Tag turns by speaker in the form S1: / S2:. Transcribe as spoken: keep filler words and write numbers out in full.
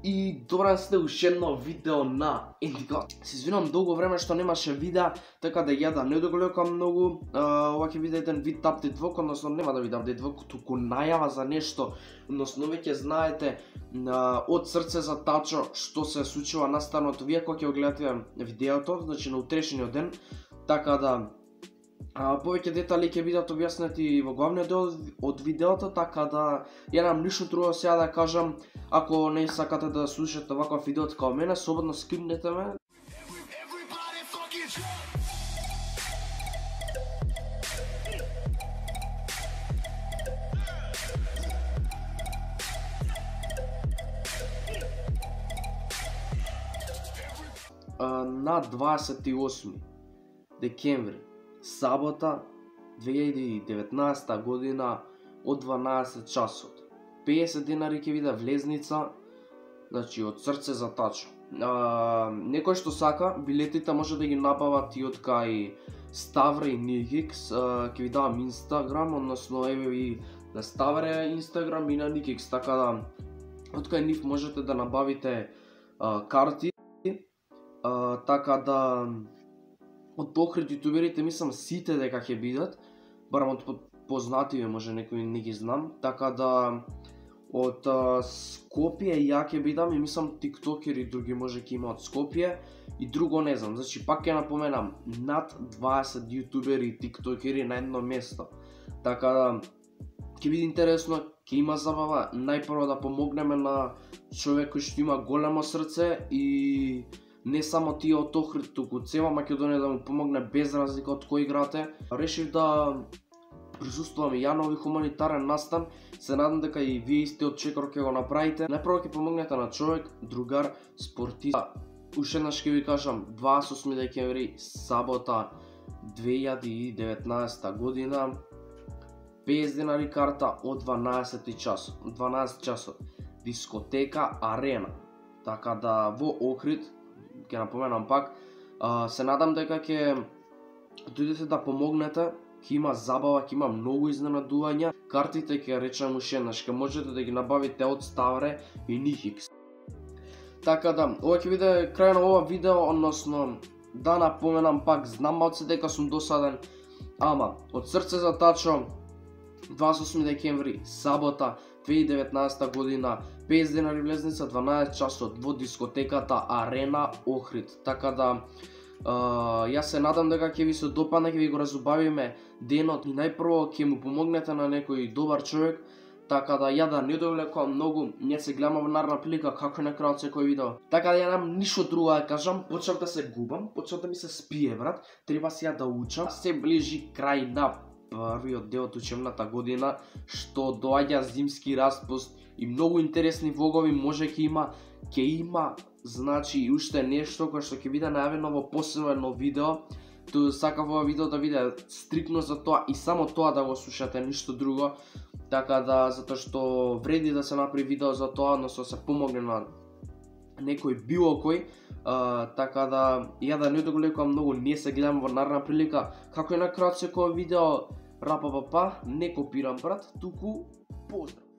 S1: И добра сте уште едно видео на Индиго. Се извинувам долго време што немаше видеа, така да ја да не доголекам многу. Ова ќе биде еден вид апдейт влог, односно нема да биде апдейт влог, туку најава за нешто. Односно веќе знаете од срце за Тачо што се случува настанот вие кога ќе го гледате видеото, значи на утрешниот ден, така да А, повеќе детали ќе бидат објаснети во главниот дел од видеото, така да ја немам ништо друго сега да кажам. Ако не сакате да слушате ваков видео како мене, слободно скипнете ме. На дваесет и осми декември, сабота, две илјади и деветнаесетта година, од дванаесет часот. песет денари ќе биде влезница, значи од срце за Тачо. А, некој што сака, билетите може да ги набават и од кај Ставре и Никикс. Ќе ви давам Инстаграм, односно еве и на Ставре Инстаграм и на Никикс, така да од кај нив можете да набавите а, карти. А, така да од Охрид јутуберите мислам сите дека ќе бидат, барам од познативе, може некои не ги знам, така да од а, Скопје ја ќе бидам и мислам тиктокери други може ќе има од Скопје и друго не знам. Значи пак ќе напоменам, над дваесет јутубери и тиктокери на едно место. Така да ќе биде интересно, ќе има забава, најпрво да помогнеме на човек кој што има големо срце и не само тие од Охрид, туку цела Македонија да му помогне без разлика од кој играте. Решив да присуствувам и ја на овој хуманитарен настан. Се надам дека и вие исти од Чекор ќе го направите. Најпрво ќе помогнете на човек, другар, спортист. Уште еднаш ќе ви кажам, дваесет и осми декември, сабота, две илјади и деветнаесетта година, песет денари карта од дванаесет часот. дванаесет часот. Дискотека Арена. Така да во Охрид, ќе напоменам пак, а, се надам дека ќе дојдете да помогнете, ќе има забава, ќе има многу изненадувања. Картите ќе речем уште еднаш, ќе можете да ги набавите од Ставре и Никикс. Така да, ова ќе биде крај на ова видео, односно да напоменам пак, знам малце дека сум досаден, ама од срце за Тачо, дваесет и осми декември, сабота, две илјади и деветнаесетта година, песет денари влезница, дванаесет часот во дискотеката Арена Охрид. Така да, uh, јас се надам дека ќе ви се допадне, ќе ви го разубавиме денот и најпрво ќе му помогнете на некој добар човек. Така да ја да не довлекувам многу, не се гледаме во наредна прилика како на крајот секој видео. Така да ја немам ништо друго да кажам, почнав да се губам, почнав да ми се спие брат, треба сега да учам. Се ближи крај на првиот дел од учебната година, што доаѓа зимски распуст и многу интересни влогови може ќе има, ќе има, значи и уште нешто кое што ќе биде најавено во посебно видео. Ту сакав ова видео да биде стрикно за тоа и само тоа да го слушате, ништо друго. Така да, затоа што вреди да се направи видео за тоа, односно се помогне на некој било кој. Uh, така да, ја да не доголекувам многу, не се гледам во наредна прилика. Како и на крајот секој видео, рапа папа, не копирам брат, туку поздрав.